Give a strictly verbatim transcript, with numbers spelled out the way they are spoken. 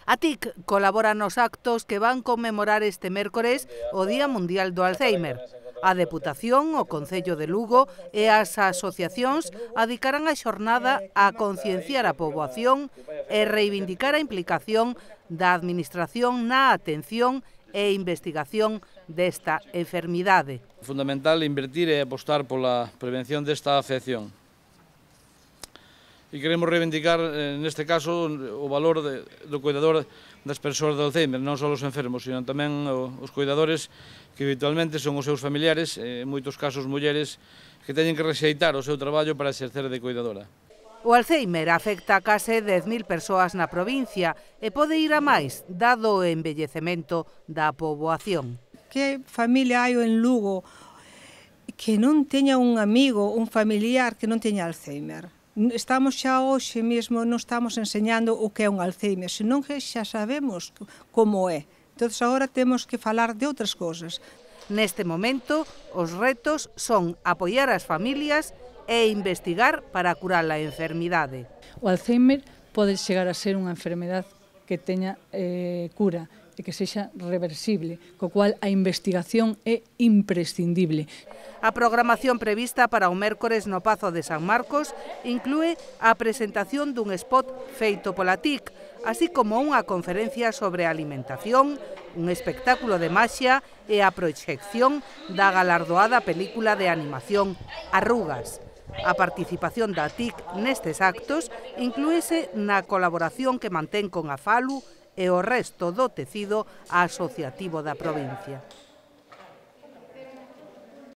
A T I C colabora nos actos que van conmemorar este mércores o Día Mundial do Alzheimer. A Deputación, o Concello de Lugo e as asociacións adicarán a xornada a concienciar a poboación e reivindicar a implicación da Administración na atención e investigación desta enfermidade. Fundamental invertir e apostar pola prevención desta afección. E queremos reivindicar, neste caso, o valor de, do cuidador das persoas de Alzheimer, non só os enfermos, sino tamén os cuidadores que habitualmente son os seus familiares, en moitos casos mulleres, que teñen que rexeitar o seu traballo para exercer de cuidadora. O Alzheimer afecta a case dez mil persoas na provincia e pode ir a máis, dado o envellecemento da poboación. Que familia hai en Lugo que non teña un amigo, un familiar que non teña Alzheimer? Estamos xa hoxe mesmo, non estamos enseñando o que é un Alzheimer, senón que xa sabemos como é. Entón, agora temos que falar de outras cousas. Neste momento, os retos son apoiar as familias e investigar para curar a enfermidade. O Alzheimer pode chegar a ser unha enfermedade que teña eh, cura e que sexa reversible, co cual a investigación é imprescindible. A programación prevista para o mércores no Pazo de San Marcos inclúe a presentación dun spot feito pola T I C, así como unha conferencia sobre alimentación, un espectáculo de maxia e a proxección da galardoada película de animación Arrugas. A participación da T I C nestes actos inclúese na colaboración que mantén con a Falu e o resto do tecido asociativo da provincia.